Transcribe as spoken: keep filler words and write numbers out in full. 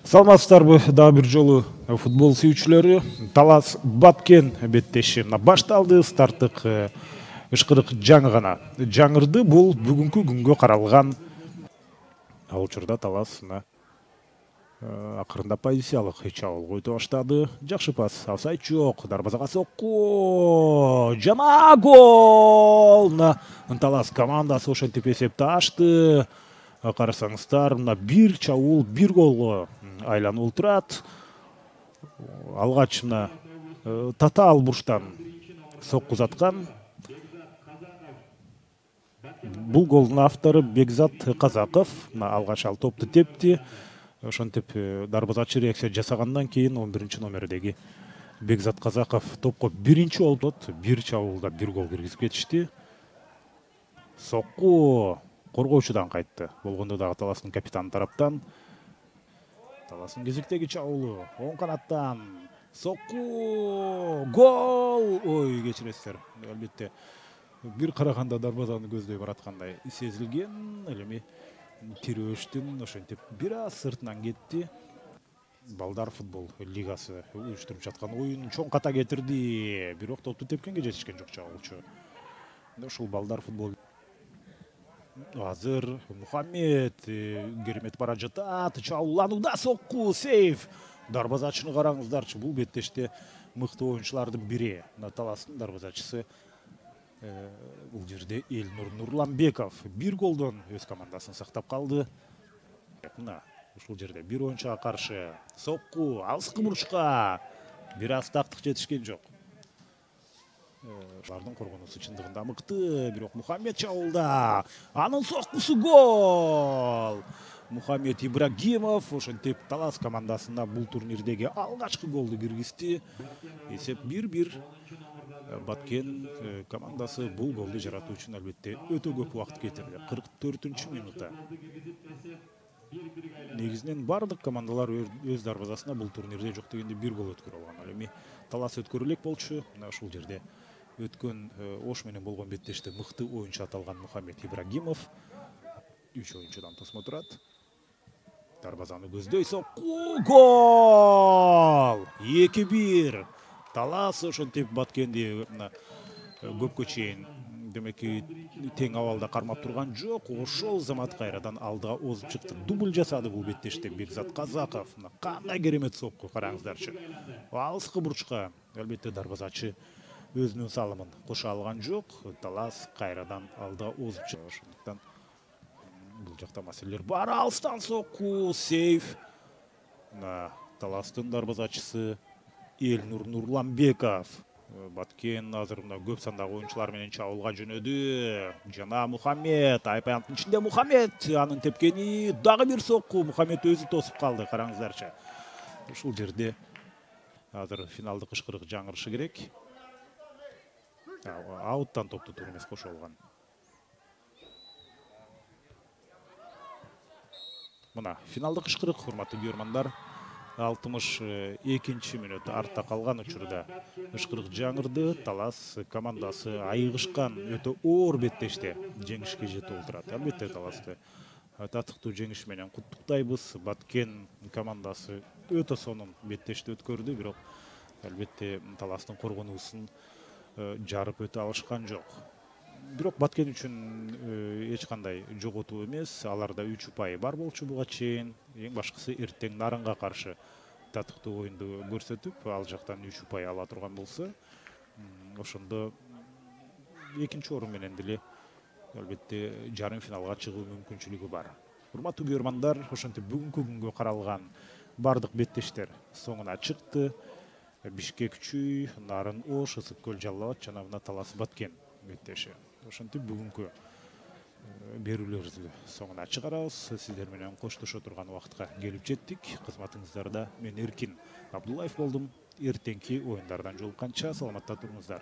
Саламатсыздарбы, дагы бир жолу футбол сүйүүчүлөрү. Талас Баткен беттеши мына башталды. Старттык ышкырык жаңы гана жаңырды. Бул бүгүнкү күнгө каралган. Ал учурда Талас мына акырында позициялык чабуул който баштады. Жакшы пас, офсайд жок. Дарбазага сокку. Жана гол! Талас командасы ошентип эсепти ачты. Карасаңыздар, мына бир чабуул бир голго айланып турат. Алгач мына татаал бурчтан сокку заткан. Бул голдун автору Бекзат Казаков. Мына алгач ал топту тепти. Ошентип дарбазачы реакция жасагандан кийин он биринчи номердеги Бекзат Казаков топко биринчи болуп, бир чабуулда бир гол киргизип кетишти. Сокку коргоочудан кайтты. Болгондо дагы Таластын капитаны тараптан. Таластын кезектеги чабуулу оң канаттан сокку, гол! Ой, кечиресиздер. Албетте бир караганда дарбазаны көздөй бараткандай сезилген. Эми тирөөштүн ошентип бир аз сыртынан кетти. Балдар футбол лигасы уюштуруп жаткан оюн чоң ката кетирди. Бирок топту тепкенге жетишкен жок чабуулчу. Ушул балдар футбол азыр Мухаммед керемет бара жатат. Чабууланууда сокку, сейф. Дарбазачыны караңыздарчы, бул беттеште мыкты оюнчулардын бири. Таластын дарбазачысы бул жерде Элнур Нурланбеков бир голдон өз командасын сактап калды. Мына ушул жерде бир оюнчуга каршы сокку, алыскы бурчка бир аз тактык жетишкен жок. Бардын коргонуусу чындыгында мыкты, бирок Мухаммед чабуулда. Анын соккусу гол! Мухаммед Ибрагимов ошентип Талас командасына бул турнирдеги алгачкы голду киргизди. Эсеп бир-бир. Баткен командасы бул голду жаратуу үчүн албетте өтө көп убакыт кетирди. кырк төртүнчү минутта. Негизинен бардык командалар өз дарбазасына бул турнирде жок дегенде бир гол өткөрө алган. Ал эми Талас өткөрө элек болчу. Мына ушул жерде өткөн Ош менен болгон беттеште мыкты оюнчу аталган Мухаммед Ибрагимов үч оюнчудан тосмо турат. Дарбазаны көздөй сокку, гол! эки бир. Талас ошентип Баткенди көпкө чейин демеки тең абалда кармап турган жок. Ошол замат кайрадан алдыга озуп чыкты. Дубль жасады бул беттеште Бекзат Казаков. Кандай керемет сокку, караңыздарчы. Алыскы бурчка албетте дарбазачы өзүнүн салымын кошо алган жок. Талас кайрадан алдыга озуп чыкты. Ошондуктан бул жакта маселелер бар. Алыстан сокку, сейф. Таластын дарбазачысы Элнур Нурланбеков. Баткен азыр мына көп сандагы оюнчулар менен чабуулга жөнөдү. Жана Мухаммед, айпанттын ичинде Мухаммед, анын тепкени дагы бир сокку. Мухаммед өзү тосуп калды, караңыздарчы. Ушул жерде азыр финалдык ышкырык жаңырышы керек. Ауттан топту туура эмес кошо алган. Мына финалдык ышкырык, урматтуу көрөрмандар. алтымыш экинчи мүнөт артта калган учурда ышкырык жаңырды. Талас командасы айыгышкан өтө оор беттеште жеңишке жетип отурат. Албетте Таласты татыктуу жеңиш менен куттуктайбыз. Баткен командасы өтө сонун беттешти өткөрдү, бирок албетте Таластын коргонуусун жарып өтө алышкан жок. Бирок Баткен үчүн эч кандай жоготуу эмес. Аларда үч упай бар болчу буга чейин. Эң башкысы эртең Нарынга каршы татыктуу оюнду көрсөтүп, ал жактан үч упай ала турган болсо, ошондо экинчи орун менен деле албетте жарым финалга чыгуу мүмкүнчүлүгү бар. Урматтуу көрөрмандар, ошентип бүгүнкү күнгө каралган бардык беттештер соңуна чыкты. Бишкек Чүй, Нарын Ош, Ысык Көл Жалал Абад жана мына Талас Баткен беттеши. Ошентип бүгүнкү берүүлөрдү соңуна чыгарабыз. Сиздер менен коштошо турган убакытка келип жеттик. Кызматыңыздарда мен Эркин Абдуллаев болдум. Эртеңки оюндардан жолукканча саламатта туруңуздар.